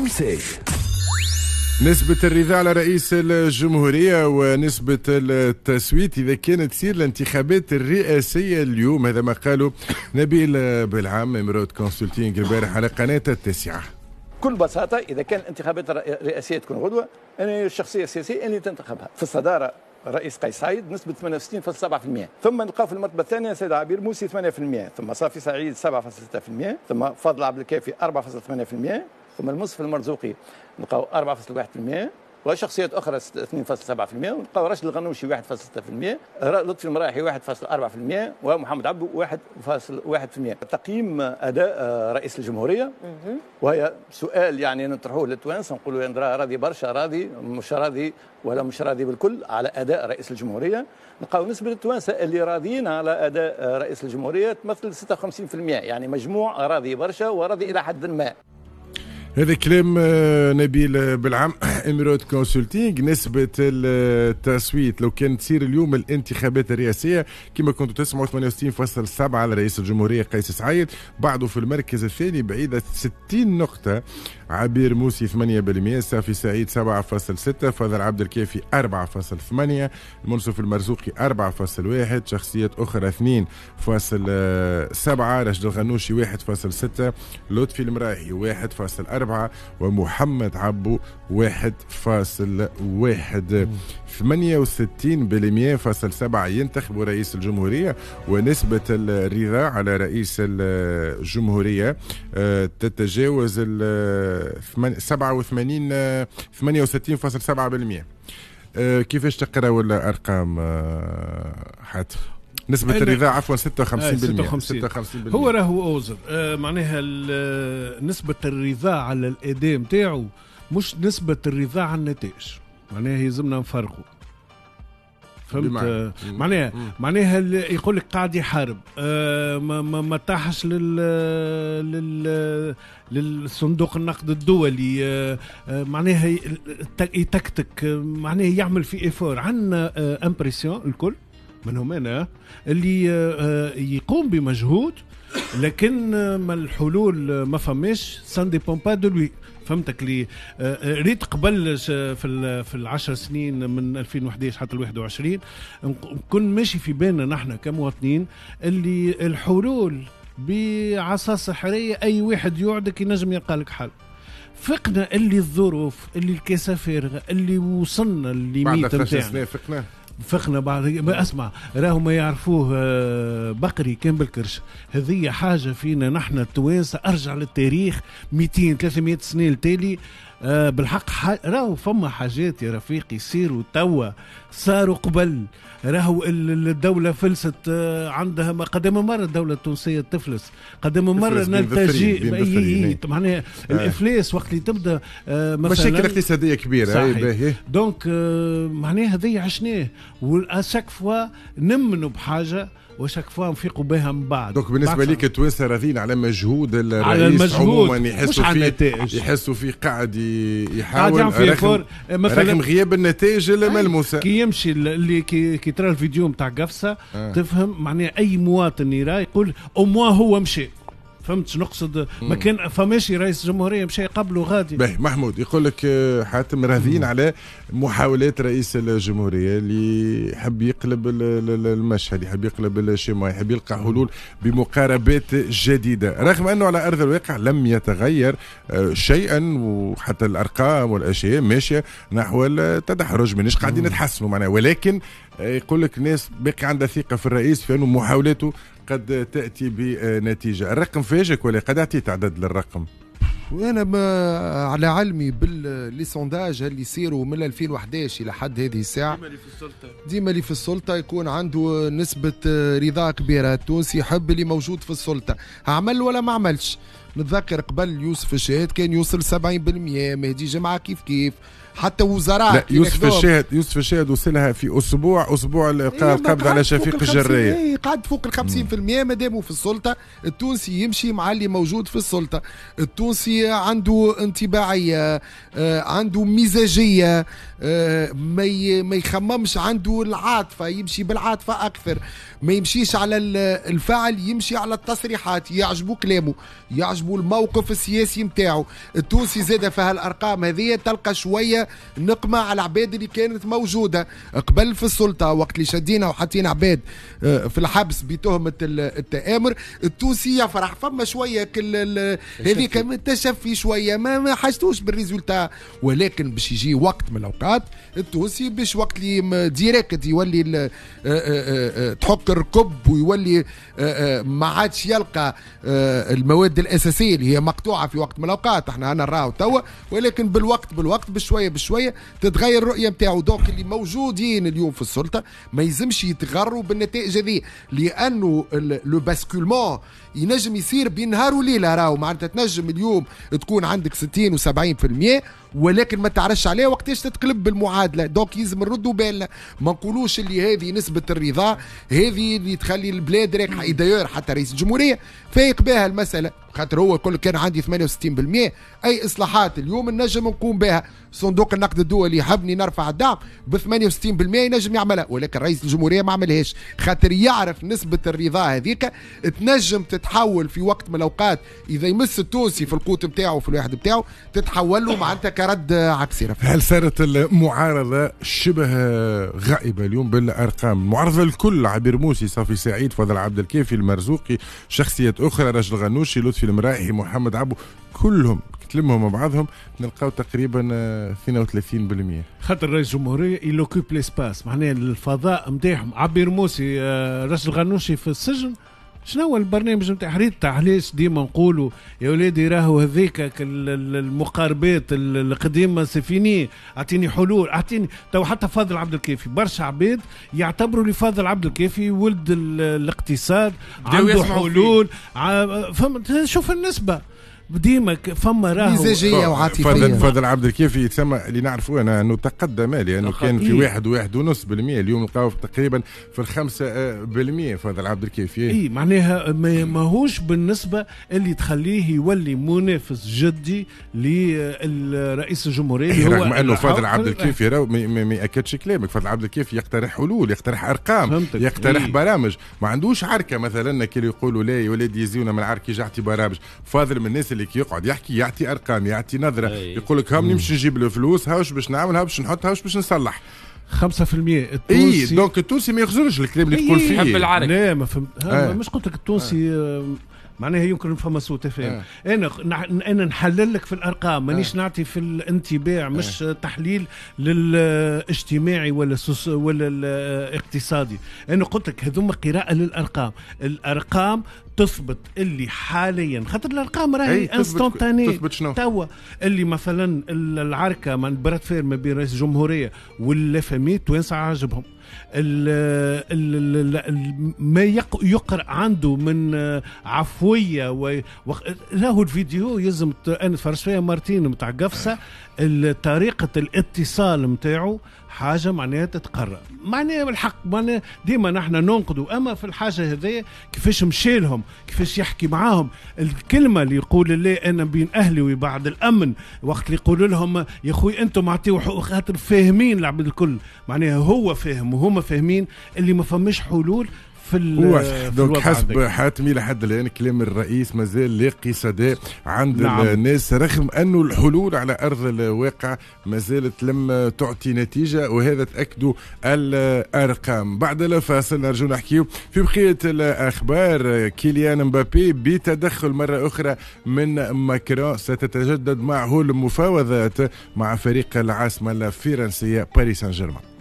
conseil. نسبة الرضا على رئيس الجمهورية ونسبة التصويت إذا كانت تصير الانتخابات الرئاسية اليوم، هذا ما قاله نبيل بالعام Emeraude Consulting البارح على قناة التاسعة. بكل بساطة إذا كان الانتخابات الرئاسية تكون غدوة، أنا الشخصية السياسية اللي تنتخبها في الصدارة رئيس قيس سعيد نسبة 68.7%، ثم نلقاو في المرتبة الثانية سيد عبير موسي 8%، ثم صافي سعيد 7.6%، ثم فضل عبد الكافي 4.8%، ثم المنصف المرزوقي نلقاو 4.1%، وشخصيات اخرى 2.7%، ونلقاو راشد الغنوشي 1.6%، لطفي المرايحي 1.4%، ومحمد عبده 1.1%. تقييم اداء رئيس الجمهورية، وهي سؤال يعني نطرحوه للتوانسه، نقولوا يا راضي برشا، راضي مش راضي، ولا مش راضي بالكل على اداء رئيس الجمهورية. نلقاو نسبه التوانسة اللي راضيين على اداء رئيس الجمهورية تمثل 56%، يعني مجموع راضي برشا وراضي الى حد ما. هذا كلام نبيل بالعام Emeraude Consulting. نسبة التصويت لو كان تصير اليوم الانتخابات الرئاسية كما كنتوا تسمعوا 68.7 على رئيس الجمهورية قيس سعيد، بعده في المركز الثاني بعيدة 60 نقطة عبير موسي 8%، صافي سعيد 7.6، فضل عبد الكافي 4.8، المنصف المرزوقي 4.1، شخصيات أخرى 2.7، راشد الغنوشي 1.6، لطفي المرايحي 1.4، ومحمد عبو 1.1. 68.7% ينتخبوا رئيس الجمهورية، ونسبة الرضا على رئيس الجمهورية تتجاوز 87 68.7%. كيفاش تقراوا الأرقام حاتم؟ نسبة الرضا عفوا 56%. 56%. هو راهو أوزر معناها نسبة الرضا على الأداء نتاعو مش نسبة الرضا على النتائج، معناها يلزمنا نفرقوا. فهمت؟ معناها يقول لك قاعد يحارب، ما طاحش للصندوق النقد الدولي، معناها يتكتك، معناها يعمل في effort. عندنا impression الكل منهم انا اللي يقوم بمجهود، لكن ما الحلول ما فماش، ça dépend pas de lui. فهمتك؟ لي ريت قبل في العشر سنين من 2011 حتى 21 كن ماشي في بالنا نحن كمواطنين اللي الحلول بعصا سحريه، اي واحد يوعدك ينجم يلقى لك حل. فقنا اللي الظروف اللي الكاسه فارغة اللي وصلنا ال limite نتاعنا. فقنا بعد ما اسمع راهو ما يعرفوه بقري كان بالكرش. هذه حاجة فينا نحن التوانسة، ارجع للتاريخ 200 300 سنة التالي، بالحق راهو فما حاجات يا رفيقي يصيروا توا صاروا قبل. راهو الدولة فلست، عندها قدم مرة الدولة التونسية تفلس، قدم مرة نلتجئ، معناها الافلاس وقت اللي تبدا مثلا مشاكل اقتصادية كبيرة. donc معناها هذه عشناه، و à chaque fois نمنوا بحاجة و chaque fois نفيقوا بها من بعد. donc بالنسبة لك التوانسة راضيين على مجهود الرئيس على المجهود عموما، يحسوا فيه، يحسوا فيه قاعد يحاول رغم غياب النتائج الملموسة. كي يمشي اللي كي ترى الفيديو نتاع قفصه تفهم معناها اي مواطن يرى يقول au moins هو مشي. فهمت شنو نقصد؟ ما كان فماشي رئيس الجمهورية مشى قبله غادي. باهي محمود يقول لك حاتم راضيين على محاولات رئيس الجمهورية اللي يحب يقلب المشهد، يحب يقلب ال schéma، يحب يلقى حلول بمقاربات جديدة، رغم انه على ارض الواقع لم يتغير شيئا، وحتى الارقام والاشياء ماشية نحو التدحرج، مانيش قاعدين نتحسنوا معناها، ولكن يقول لك الناس باقي عندها ثقة في الرئيس في انه محاولاته قد تأتي بنتيجة. الرقم فاجئك ولا قد أعطيت عدد للرقم؟ وأنا ما على علمي بال les sondages اللي يصيروا من 2011 إلى حد هذه الساعة، ديما اللي في السلطة يكون عنده نسبة رضا كبيرة. التونسي يحب اللي موجود في السلطة، عمل ولا ما عملش. نتذكر قبل يوسف الشاهد كان يوصل 70%، مهدي جمعة كيف كيف، حتى وزراء. لا يوسف الشاهد وصلها في اسبوع القبض على شفيق الجرايه، قعد فوق ال 50% ما داموا في السلطة. التونسي يمشي مع اللي موجود في السلطة. التونسي عنده انطباعيه، عنده مزاجيه، ما يخممش، عنده العاطفة، يمشي بالعاطفه اكثر، ما يمشيش على الفعل، يمشي على التصريحات. يعجبو كلامه، يعجبو عجبه الموقف السياسي نتاعو. التونسي زاد في هالارقام هذه تلقى شوية نقمه على العباد اللي كانت موجودة قبل في السلطة، وقت اللي شدينا وحطينا عباد في الحبس بتهمه التآمر. التونسي يفرح، فما شوية هذيك تشفي شوية، ما حاجتوش بال résultat، ولكن باش يجي وقت من الاوقات التونسي باش وقت اللي direct يولي تحك الركب ويولي ما عادش يلقى المواد الاساسية اللي هي مقطوعة في وقت من الاوقات، احنا انا نراو توا، ولكن بالوقت بشوية بشوية تتغير الرؤية نتاعو. donc اللي موجودين اليوم في السلطة ما يلزمش يتغروا بالنتائج هذه، لانه le basculement ينجم يصير بين نهار وليلة. راهو معناتها تنجم اليوم تكون عندك 60 و70%، ولكن ما تعرفش عليه وقتاش تتقلب بالمعادله. donc يلزم نردوا بالنا، ما نقولوش اللي هذه نسبه الرضا هذه اللي تخلي البلاد راكحه. d'ailleurs حتى رئيس الجمهورية فايق بها المسالة، خاطر هو يقول كان عندي 68%، اي اصلاحات اليوم نجم نقوم بها. صندوق النقد الدولي يحبني نرفع الدعم ب 68% ينجم يعملها، ولكن رئيس الجمهورية ما عملهاش، خاطر يعرف نسبه الرضا هذيك تنجم تتحول في وقت من الاوقات، اذا يمس التونسي في القوت نتاعو في الواحد نتاعو تتحول له معناتها كرد عكسي. هل صارت المعارضة شبه غائبة اليوم بالارقام؟ المعارضة الكل، عبير موسي، صافي سعيد، فضل عبد الكافي، المرزوقي، شخصيات اخرى، رجل غنوشي، لطفي المرايحي، محمد عبو، كلهم تلمهم مع بعضهم نلقاو تقريبا 32%. خاطر رئيس الجمهورية il occupe l'espace، معناها الفضاء نتاعهم. عبير موسي، رجل غنوشي في السجن، شنو هو البرنامج نتاع حريت؟ علاش ديما نقولوا يا ولادي راهو هذيك المقاربات القديمة c'est fini، اعطيني حلول، اعطيني تو. حتى فاضل عبد الكافي برشا عباد يعتبروا لي فاضل عبد الكافي ولد الاقتصاد، عنده حلول. فهمت؟ شوف النسبة ديما فما راهو مزاجيه وعاطفيه. فاضل عبد الكافي يتسمى اللي نعرفوه انا انه تقدم، لانه كان في 1.5%، اليوم نلقاو تقريبا في 5% فاضل عبد الكافي. اي معناها ماهوش بالنسبة اللي تخليه يولي منافس جدي للرئيس الجمهورية. إيه، رغم انه فاضل عبد الكافي راهو ما ياكدش كلامك، فاضل عبد الكافي يقترح حلول، يقترح ارقام، يقترح برامج، ما عندوش عركة مثلا كي يقولوا لا يا ولادي يزيونا من العركه يعطي برامج. فاضل من الناس اللي يقعد يحكي، يعطي ارقام، يعطي نظره، يقول لك هام نمشي نجيب الفلوس، هاوش باش نعمل، هاوش باش نحط، هاوش باش نصلح. 5% التونسي. اي donc التونسي ما يخزرش الكلام اللي تقول فيه. يحب العرك. لا ما فهمت، مش قلت لك التونسي معناها يمكن فما سوء تفاهم. انا نحلل لك في الارقام، مانيش نعطي في الانطباع، مش تحليل للاجتماعي ولا ولا الاقتصادي. انا قلت لك هذوما قراءة للارقام، الارقام تثبت اللي حاليا، خاطر الارقام راهي instantanée توا. اللي مثلا العركه من bras de fer ما بين رئيس الجمهورية وال FMI توانسة عاجبهم. ما يقرأ عنده من عفوية له الفيديو يلزم أنا تفرجت فيها مرتين متاع قفصة، طريقة الاتصال متاعه حاجة معناها تتقرأ، معناها بالحق معناها ديما نحن ننقدوا، أما في الحاجة هذيا كيفاش مشي لهم، كيفاش يحكي معاهم، الكلمة اللي يقول لا أنا بين أهلي وبعد الأمن، وقت اللي يقول لهم يا خوي أنتم أعطيوا حقوق، خاطر فاهمين العبد الكل، معناها هو فاهم وهما فاهمين اللي ما فماش حلول في donc حسب حاتمي لحد الان كلام الرئيس مازال لاقي صدى عند الناس، رغم انه الحلول على ارض الواقع ما زالت لم تعطي نتيجة، وهذا تاكدوا الارقام. بعد الفاصل نرجو نحكيو في بقية الاخبار. كيليان مبابي بتدخل مرة اخرى من ماكرون، ستتجدد معه المفاوضات مع فريق العاصمة الفرنسية باريس سان جيرمان.